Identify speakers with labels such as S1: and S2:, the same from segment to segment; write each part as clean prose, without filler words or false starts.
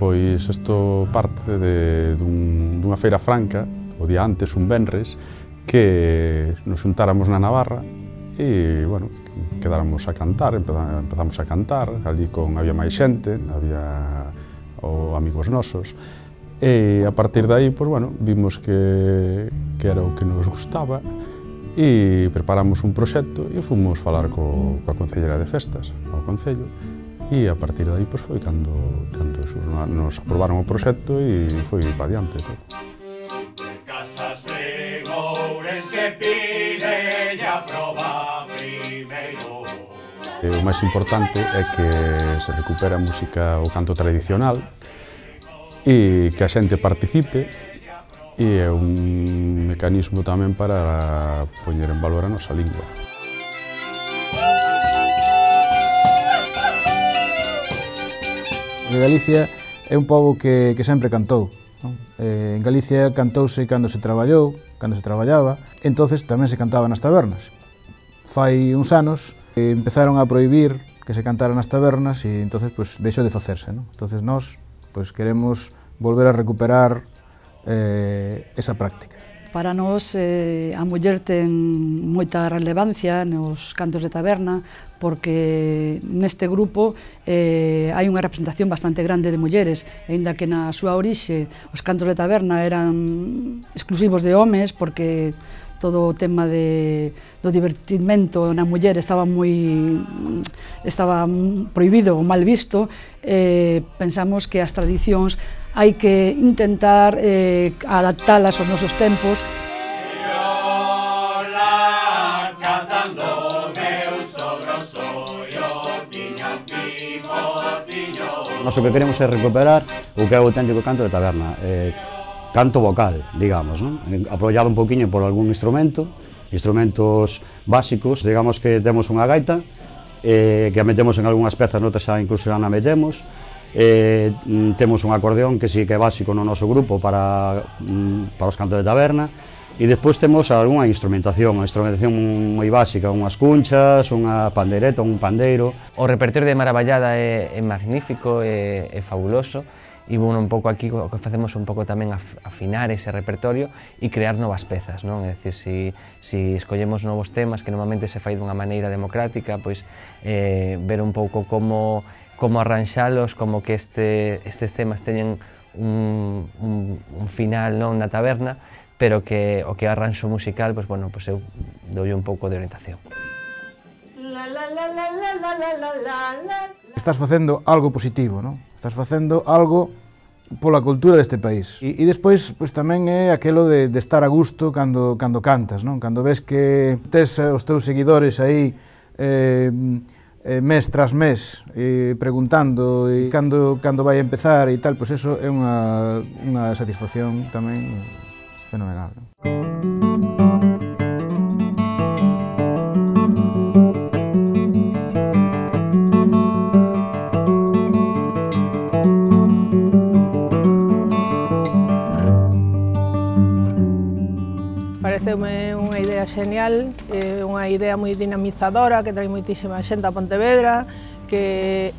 S1: Pois isto parte dunha feira franca, o día antes, un venres, que nos xuntáramos na Navarra e, bueno, quedáramos a cantar, empezamos a cantar, ali había máis xente, había amigos nosos, e a partir de aí, pois, bueno, vimos que era o que nos gustaba e preparamos un proxecto e fomos falar coa Concelleira de Festas, ao Concello, e a partir de aí, pois, foi cando nos aprobaron o proxecto e foi para diante todo. O máis importante é que se recupera a música, o canto tradicional, e que a xente participe, e é un mecanismo tamén para poñer en valor a nosa lingua.
S2: Galicia é un pobo que sempre cantou. En Galicia cantouse cando se traballou, cando se traballaba, entonces tamén se cantaba nas tabernas. Fai uns anos empezaron a prohibir que se cantara nas tabernas e entonces deixou de facerse. Entonces nós queremos volver a recuperar esa práctica.
S3: Para nós a muller ten moita relevancia nos cantos de taberna porque neste grupo hai unha representación bastante grande de mulleres, aínda que na súa orixe os cantos de taberna eran exclusivos de homes porque todo o tema do divertimento na muller estaba prohibido ou mal visto. Pensamos que as tradicións hai que intentar adaptalas aos nosos tempos.
S4: Nós o que queremos é recuperar o que é o auténtico canto de taberna. Canto vocal, digamos, non? Apoiado un poquinho por algún instrumentos básicos, digamos que temos unha gaita, que a metemos en algunhas pezas, noutras xa incluso xa na metemos, temos un acordeón que sí que é básico no noso grupo para os cantos de taberna, e despois temos algunha instrumentación moi básica, unhas cunchas, unha pandeireta, un pandeiro.
S5: O repertorio de Maravallada é magnífico, é fabuloso, e bueno, un pouco aquí o que facemos un pouco tamén afinar ese repertorio e crear novas pezas, non? É dicir, si escollemos novos temas que normalmente se fai dunha maneira democrática, pois ver un pouco como arranxalos, como que estes temas teñen un final non na taberna, pero que o que arranxo musical, pois bueno, pois eu doulle un pouco de orientación.
S2: Estás facendo algo positivo, non? Estás facendo algo pola cultura deste país. E despois tamén é aquelo de estar a gusto cando cantas, non? Cando ves que tes os teus seguidores aí mes tras mes preguntando cando vai a empezar e tal, pois eso é unha satisfacción tamén fenomenal.
S6: Pareceume unha idea xenial, unha idea moi dinamizadora que trae moitísima xente a Pontevedra, que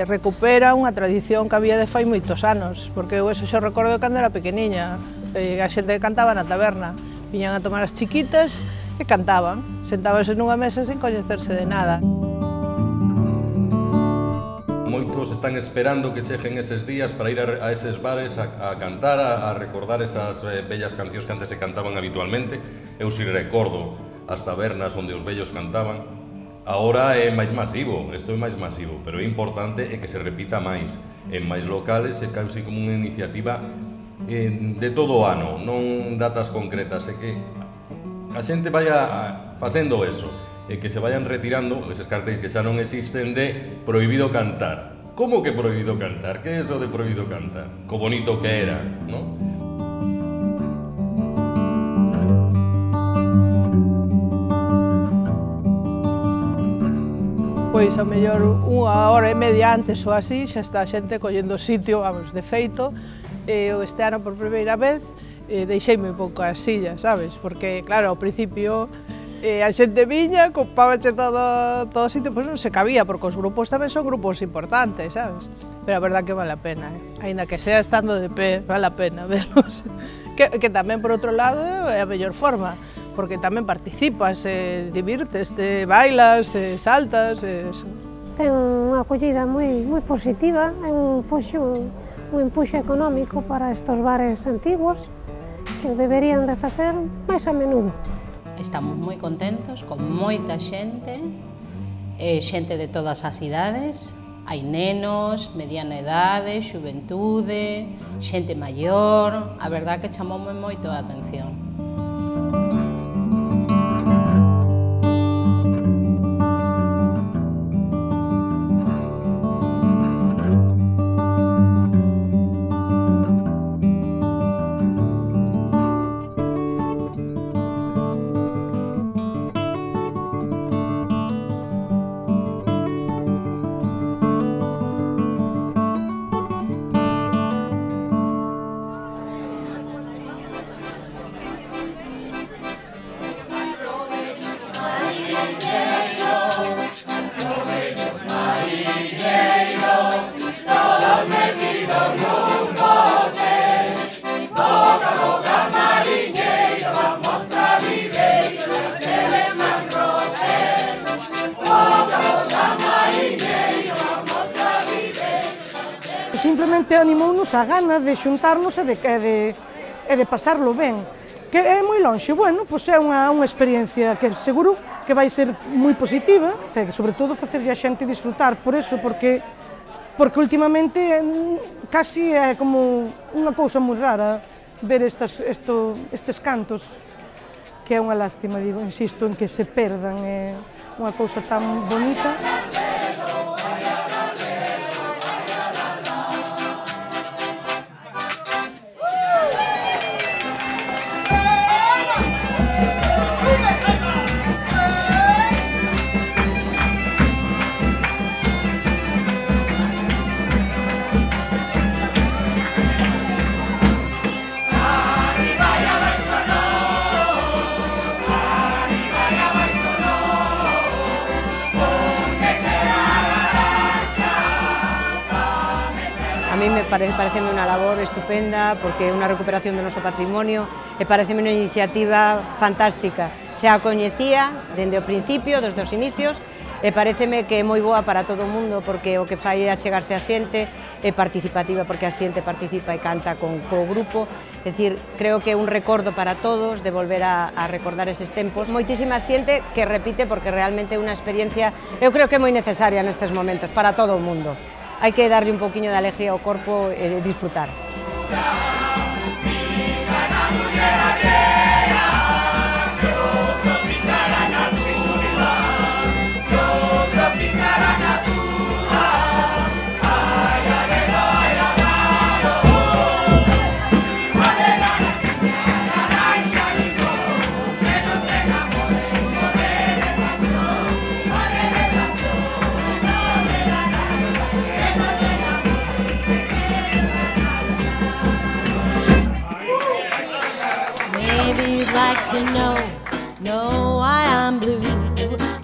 S6: recupera unha tradición que había de fai moitos anos, porque eu eso xo recordo cando era pequeniña, a xente cantaba na taberna, viñan a tomar as chiquitas e cantaban, sentábanse nunha mesa sen coñecerse de nada.
S7: Moitos están esperando que cheguen eses días para ir a eses bares a cantar, a recordar esas bellas cancións que antes se cantaban habitualmente. Eu si recordo as tabernas onde os vellos cantaban. Agora é máis masivo, isto é máis masivo, pero é importante que se repita máis en máis locales, e casi como unha iniciativa de todo o ano, non datas concretas, é que a xente vaya facendo eso, e que se vayan retirando eses cartéis que xa non existen de prohibido cantar. Como que prohibido cantar? Que é eso de prohibido cantar? Co bonito que era, non?
S6: Pois ao mellor unha hora e media antes ou así xa está a xente collendo sitio, vamos, de feito. Este ano por primeira vez deixei moi pouco as sillas, sabes? Porque, claro, ao principio E a xente viña, ocupábache todo o sitio, pois non se cabía, porque os grupos tamén son grupos importantes, sabes? Pero a verdad que vale a pena, aínda que sea estando de pé, vale a pena verlos. Que tamén, por outro lado, é a mellor forma, porque tamén participas, divirtes, bailas, saltas, eso.
S8: Ten unha acollida moi positiva, é un empuxo económico para estos bares antigos, que deberían de facer máis a menudo.
S9: Estamos moi contentos, con moita xente, xente de todas as idades, hai nenos, mediana idade, xuventude, xente maior, a verdad que chamoume moito a atención.
S10: Simplemente animounos a gana de xuntarnos e de pasarlo ben. Que é moi lonxe, bueno, pois é unha experiencia que seguro que vai ser moi positiva, e sobre todo facerlle a xente disfrutar por eso, porque últimamente casi é como unha cousa moi rara ver estes cantos, que é unha lástima, digo, insisto, en que se perdan, é unha cousa tan bonita.
S11: A mí pareceme unha labor estupenda porque é unha recuperación do noso patrimonio e pareceme unha iniciativa fantástica. Xa a coñecía dende o principio, desde os inicios, e pareceme que é moi boa para todo o mundo porque o que fai é achegarse a xente, é participativa porque a xente participa e canta co grupo. É dicir, creo que é un recordo para todos de volver a recordar eses tempos. Moitísima xente que repite porque realmente é unha experiencia, eu creo que é moi necesaria nestes momentos para todo o mundo. Hai que darlle un poquinho de alegría ao corpo e disfrutar.
S12: To know, no I am blue,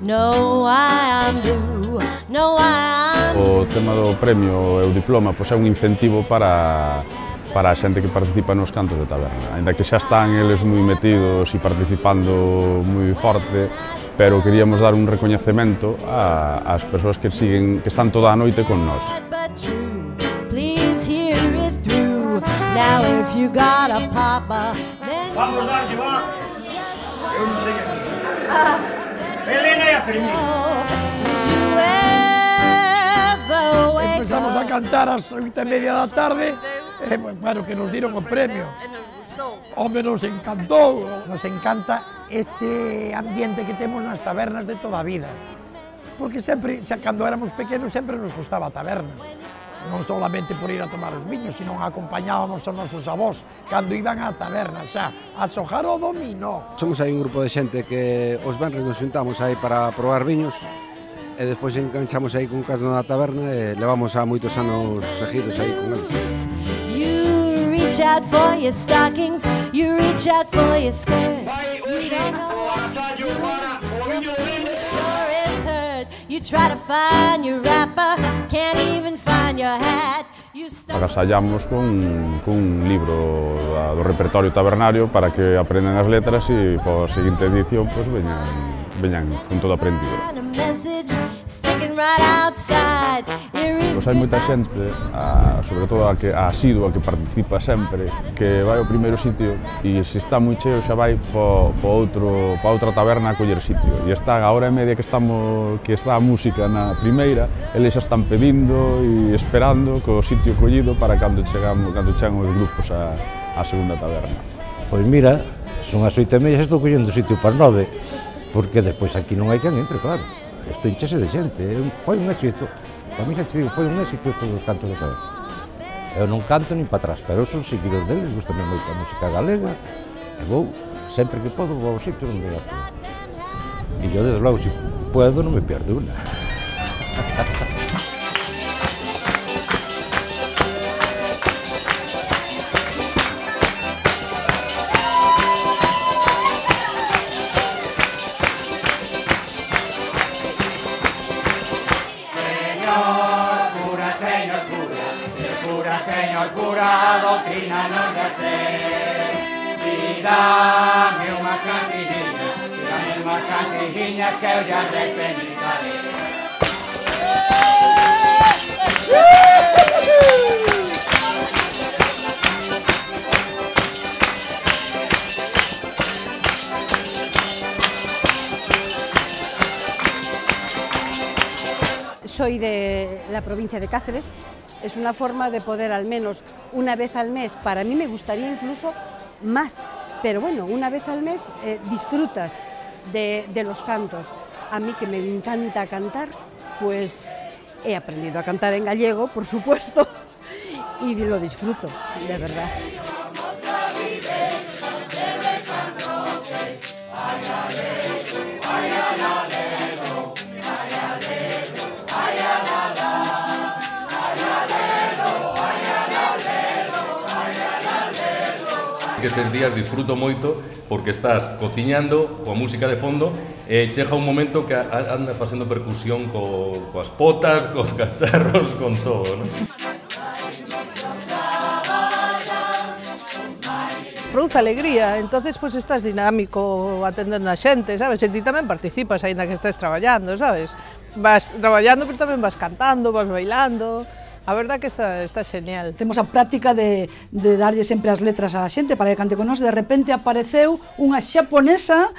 S12: no I am blue, no I am
S1: O
S12: blue.
S1: tema do premio e o diploma pois é un incentivo para a xente que participa nos cantos de taberna. Ainda que xa están eles moi metidos e participando moi forte, pero queríamos dar un recoñecemento ás persoas que están toda a noite con nós.
S13: Vamos darlle, va. Eu non sei aquí. Elena e a Fermín. Empezamos a cantar ás 8:30 da tarde, e, claro, que nos diron o premio. Home, nos encantou. Nos encanta ese ambiente que temos nas tabernas de toda a vida. Porque sempre, xa cando éramos pequenos, sempre nos gustaba a taberna. Non solamente por ir a tomar os viños, sino acompañábamos aos nosos avós cando iban á taberna xa a xogar o dominó.
S14: Somos aí un grupo de xente que os venres nos xuntamos aí para probar viños e despois enganchamos aí con casno na taberna e levamos a moitos anos seguidos aí con eles.
S12: reach out for your stockings, you reach out for your skirt. You don't know what to do, your feet sure is hurt. You try to find your wrapper, can't even find your hat.
S1: Agasallamos cun libro do repertorio tabernario para que aprendan as letras e para a seguinte edición pues, veñan con todo aprendido. Pois hai moita xente, sobre todo a asidua, que participa sempre, que vai ao primeiro sitio e se está moi cheo xa vai pa outra taberna a coller sitio. E está a hora e media que está a música na primeira, eles xa están pedindo e esperando co sitio collido para cando chegan os grupos á segunda taberna.
S15: Pois mira, son as 8:30 e estou collendo sitio para 9, porque despois aquí non hai quen entre, claro. Isto enchese de xente, foi un éxito. Para mí xa te digo, foi un éxito estes dos cantos de taberna. Eu non canto nin para atrás, pero eu son seguidor deles, gustame moito a música galega, e vou, sempre que podo, vou ao sitio onde a podo. E eu, desde logo, se puedo, non me pierdo unha.
S16: Señor cura, doctrina non de ser. E dame unhas cantijiñas que eu ya repenitaré.
S17: Soy de la provincia de Cáceres. Es una forma de poder al menos una vez al mes, para mí me gustaría incluso más, pero bueno, una vez al mes disfrutas de los cantos. A mí que me encanta cantar, pues he aprendido a cantar en gallego, por supuesto, y lo disfruto, de verdad.
S7: Que eses días disfruto moito porque estás cociñando coa música de fondo e chega un momento que andas facendo percusión coas potas, cos cacharros, con todo, non?
S6: Produce alegría, entonces pues estás dinámico atendendo a xente, sabes? E ti tamén participas aínda que estés traballando, sabes? Vas traballando, pero tamén vas cantando, vas bailando. A verdad que está genial.
S3: Temos a práctica de darlle sempre as letras á xente para que cante con nós. De repente apareceu unha xaponesa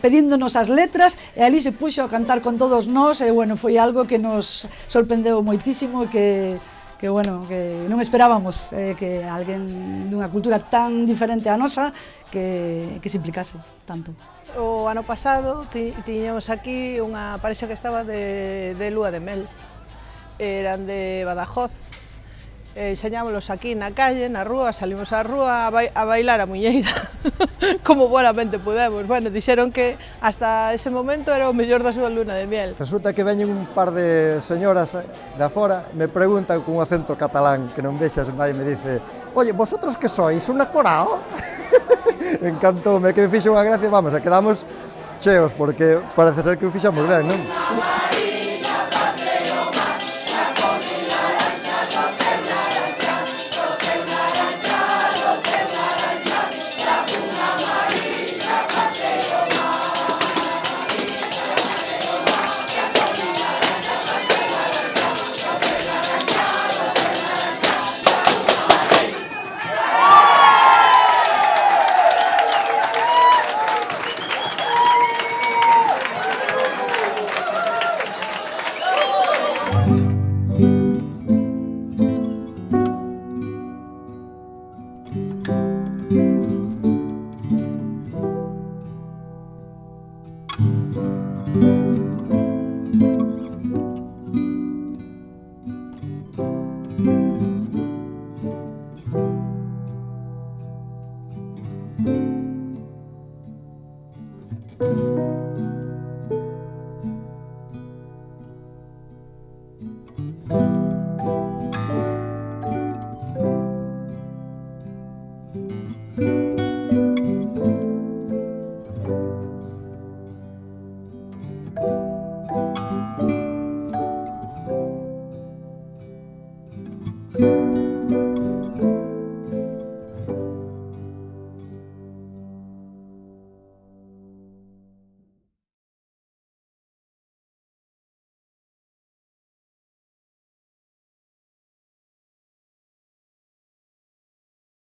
S3: pedíndonos as letras e ali se puxo a cantar con todos nós e bueno, foi algo que nos sorprendeu moitísimo e que bueno, que non esperábamos que alguén dunha cultura tan diferente á nosa que se implicase tanto.
S6: O ano pasado tiñamos aquí unha parexa que estaba de lúa de mel. Eran de Badajoz, enseñámoslos aquí na calle, na rúa, salimos á rúa a bailar a muñeira, como buenamente pudemos. Bueno, dixeron que hasta ese momento era o mellor da súa luna de miel.
S18: Resulta que veñen un par de señoras de afora, me preguntan con un acento catalán que non vexas máis, me dice: oye, vosotros que sois, unha corao? Encantoume, que me fixo unha gracia, vamos, e quedamos cheos, porque parece ser que o fixamos ben, non?
S12: Thank you.